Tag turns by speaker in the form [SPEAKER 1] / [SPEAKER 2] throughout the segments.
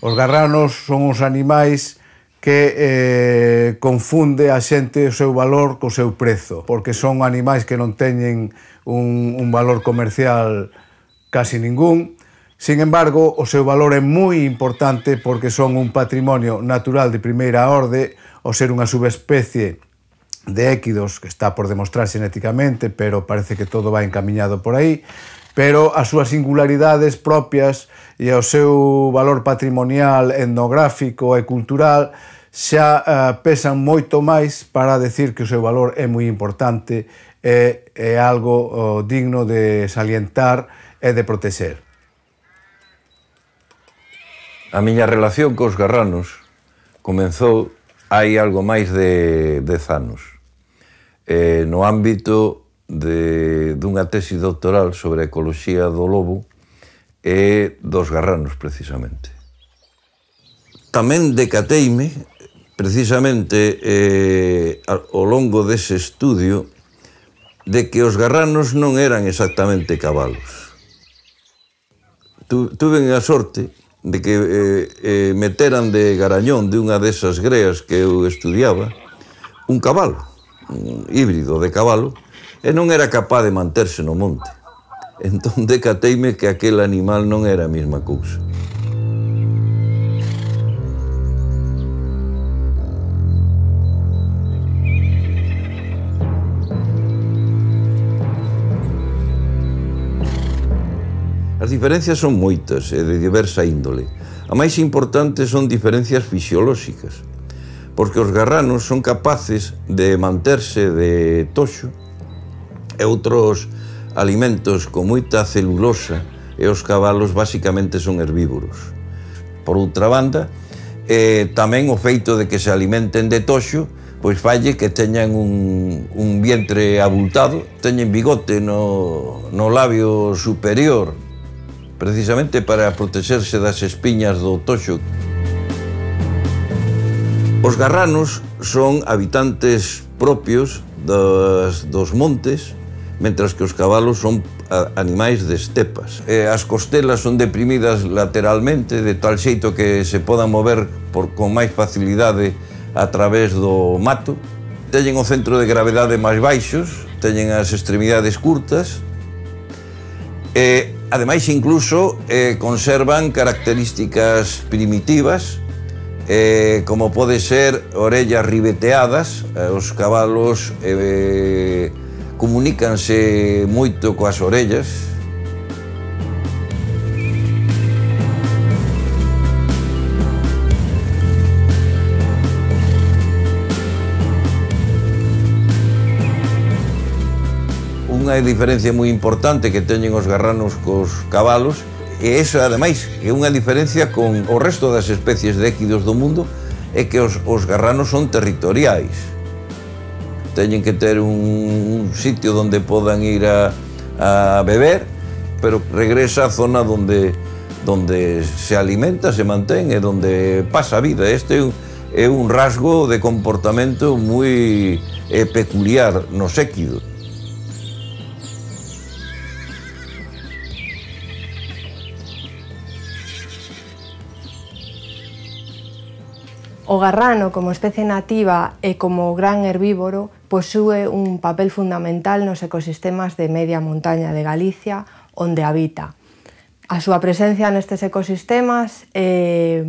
[SPEAKER 1] Os garranos son uns animais que confunde a xente o seu valor co seu prezo, porque son animais que non teñen un valor comercial casi ningún. Sin embargo, o seu valor é moi importante porque son un patrimonio natural de primeira orde, ao ser unha subespecie de équidos que está por demostrar xenéticamente, pero parece que todo va encamiñado por aí, pero as súas singularidades propias e o seu valor patrimonial, etnográfico e cultural xa pesan moito máis para decir que o seu valor é moi importante e é algo digno de salientar e de protexer.
[SPEAKER 2] A miña relación cos garranos comenzou hai algo máis de 10 anos, no ámbito dunha tesi doctoral sobre a ecoloxía do lobo e dos garranos, precisamente. Tamén decateime, precisamente, ao longo dese estudio, de que os garranos non eran exactamente cabalos. Tuve a sorte de que meteran de garañón de unha desas greas que eu estudiaba un cabalo, un híbrido de cabalo, e non era capaz de manterse no monte. Entón decateime que aquel animal non era a mesma cousa. As diferencias son moitas e de diversa índole. A máis importante son diferencias fisiolóxicas, porque os garranos son capaces de manterse de toxo e outros alimentos con moita celulosa, e os cabalos basicamente son herbívoros. Por outra banda, tamén o feito de que se alimenten de toxo pois falle que teñan un vientre abultado, teñen bigote no labio superior, precisamente para protexerse das espiñas do toxo. Os garranos son habitantes propios dos montes, mentras que os cabalos son animais de estepas. As costelas son deprimidas lateralmente, de tal xeito que se podan mover con máis facilidade a través do mato. Teñen o centro de gravedade máis baixos, teñen as extremidades curtas, e ademais, incluso, conservan características primitivas, como pode ser orellas ribeteadas. Os cabalos comunícanse moito coas orellas. Unha diferencia moi importante que teñen os garranos cos cabalos, e iso, ademais, é unha diferencia con o resto das especies de équidos do mundo, é que os garranos son territoriais. Teñen que ter un sitio onde podan ir a beber, pero regresa á zona onde se alimenta, se mantén e onde pasa a vida. Este é un rasgo de comportamento moi peculiar nos équidos.
[SPEAKER 3] O garrano, como especie nativa e como gran herbívoro, posúe un papel fundamental nos ecosistemas de media montaña de Galicia, onde habita. A súa presencia nestes ecosistemas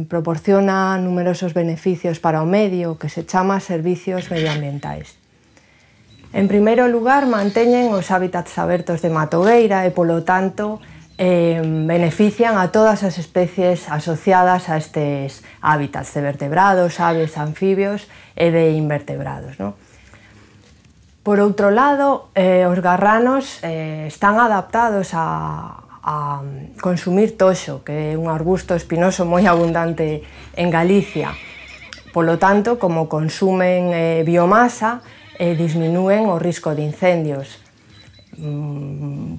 [SPEAKER 3] proporciona numerosos beneficios para o medio, que se chama servicios medioambientais. En primeiro lugar, manteñen os hábitats abertos de matogueira e, polo tanto, benefician a todas as especies asociadas a estes hábitats de vertebrados, aves, anfibios e de invertebrados, non? Por outro lado, os garranos están adaptados a consumir toxo, que é un arbusto espinoso moi abundante en Galicia. Polo tanto, como consumen biomasa, disminúen o risco de incendios.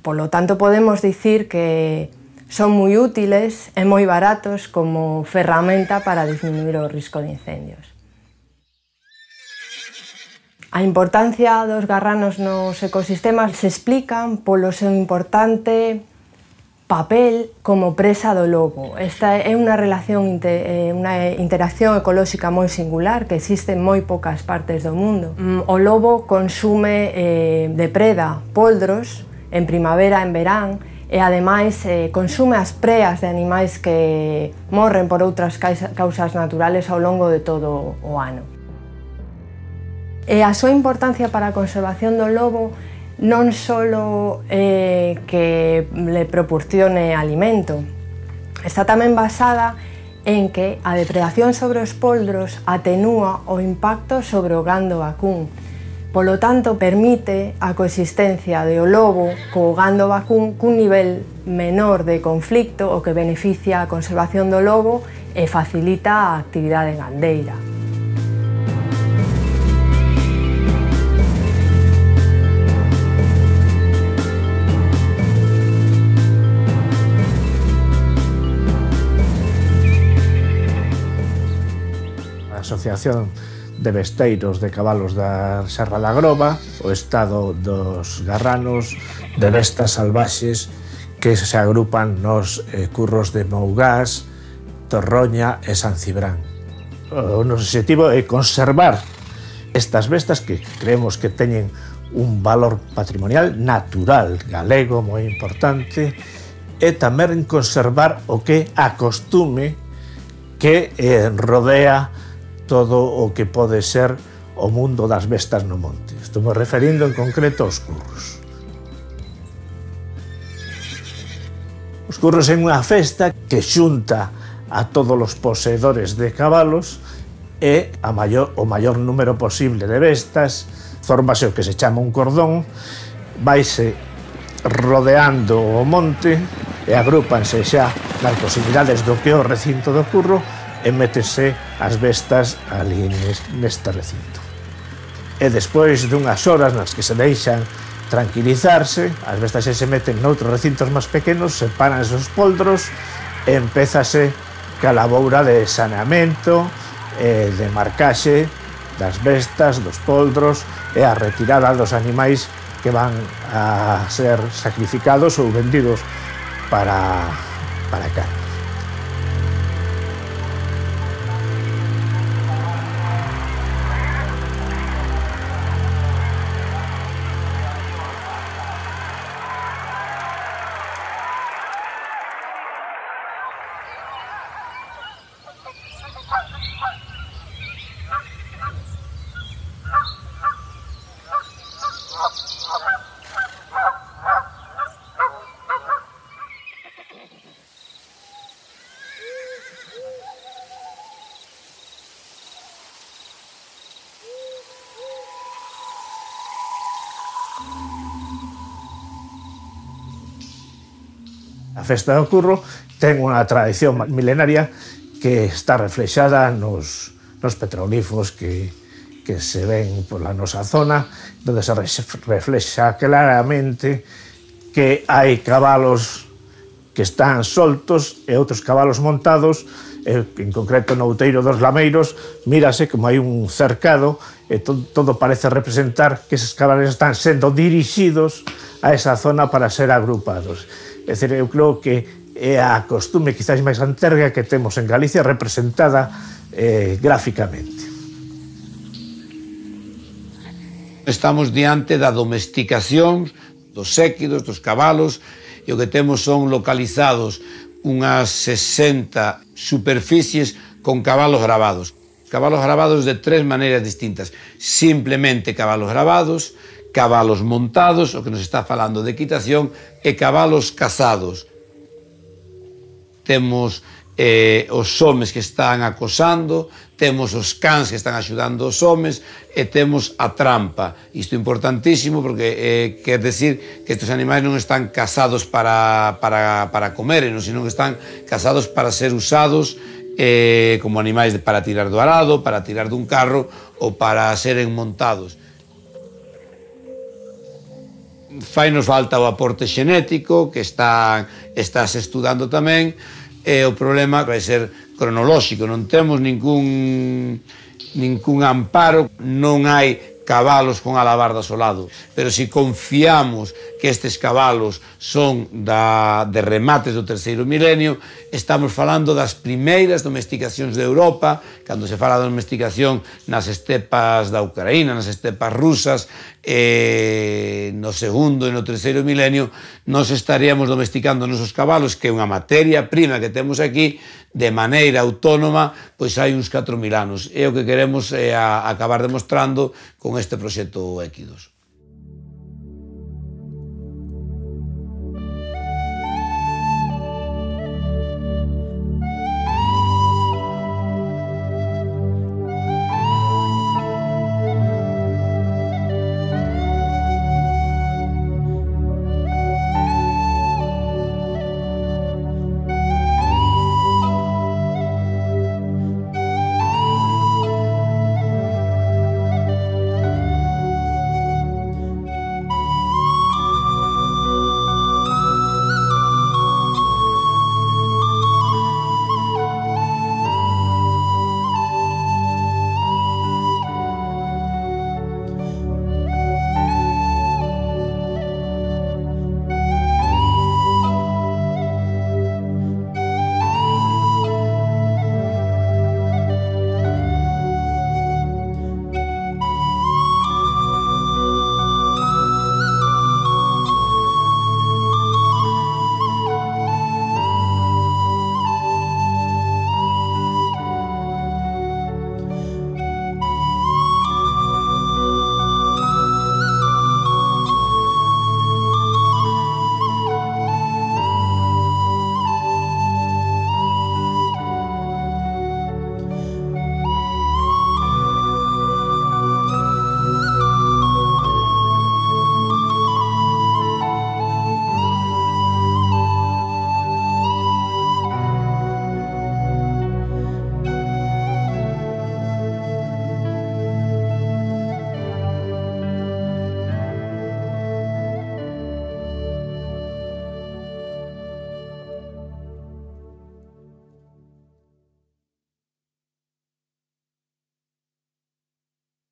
[SPEAKER 3] Polo tanto, podemos dicir que son moi útiles e moi baratos como ferramenta para disminuir o risco de incendios. A importancia dos garranos nos ecosistemas se explican polo seu importante papel como presa do lobo. Esta é unha relación, unha interacción ecolóxica moi singular que existe en moi poucas partes do mundo. O lobo consume, depreda poldros en primavera, en verán, e ademais consume as preas de animais que morren por outras causas naturales ao longo de todo o ano. E a súa importancia para a conservación do lobo non só que le proporcione alimento, está tamén basada en que a depredación sobre os poldros atenúa o impacto sobre o gando vacún. Polo tanto, permite a coexistencia do lobo co gando vacún cun nivel menor de conflicto, o que beneficia a conservación do lobo e facilita a actividade gandeira.
[SPEAKER 4] Asociación de Besteiros de Cabalos da Serra da Groba, o estado dos garranos de bestas salvaxes que se agrupan nos curros de Mougás, Torroña e San Cibrán. O noso objetivo é conservar estas bestas que creemos que teñen un valor patrimonial natural galego moi importante, e tamén conservar o que a costume que rodea todo o que pode ser o mundo das bestas no monte. Estamos referindo en concreto aos curros. Os curros é unha festa que xunta a todos os poseedores de cabalos e o maior número posible de bestas, fórmase o que se chama un cordón, vaise rodeando o monte e agrúpanse xa nas posibilidades do que é o recinto do curro e métese as bestas ali neste recinto. E despois dunhas horas nas que se deixan tranquilizarse, as bestas se meten noutros recintos máis pequenos, separanse os poldros e empézase ca laboura de saneamento e de marcaxe das bestas, dos poldros e a retirada dos animais que van a ser sacrificados ou vendidos para carne. A festa do curro ten unha tradición milenaria que está reflexada nos petroglifos que se ven pola nosa zona, onde se reflexa claramente que hai cabalos que están soltos e outros cabalos montados, en concreto no outeiro dos Lameiros, mírase como hai un cercado e todo parece representar que eses cabalos están sendo dirixidos a esa zona para ser agrupados. É dicir, eu creo que é a costume quizás máis anterga que temos en Galicia representada gráficamente.
[SPEAKER 5] Estamos diante da domesticación dos séquidos, dos cabalos, e o que temos son localizados unhas 60 superficies con cabalos gravados. Cabalos gravados de tres maneiras distintas. Simplemente cabalos gravados, cabalos montados, o que nos está falando de equitación, e cabalos cazados. Temos os homes que están acosando, temos os cans que están axudando os homes e temos a trampa. Isto é importantísimo porque quer decir que estes animais non están cazados para comer, senón que están cazados para ser usados como animais para tirar do arado, para tirar dun carro ou para seren montados. Fainos falta o aporte xenético que estás estudando tamén, e o problema vai ser cronolóxico, non temos ningún amparo, non hai cabalos con alabardas ao lado, pero se confiamos que estes cabalos son de remates do terceiro milenio, estamos falando das primeiras domesticacións de Europa, cando se fala de domesticación nas estepas da Ucraína, nas estepas rusas, no segundo e no terceiro milenio, nos estaríamos domesticando nosos cabalos, que é unha materia prima que temos aquí, de maneira autónoma, pois hai uns 4.000 anos. É o que queremos acabar demostrando con este proxecto Equidos.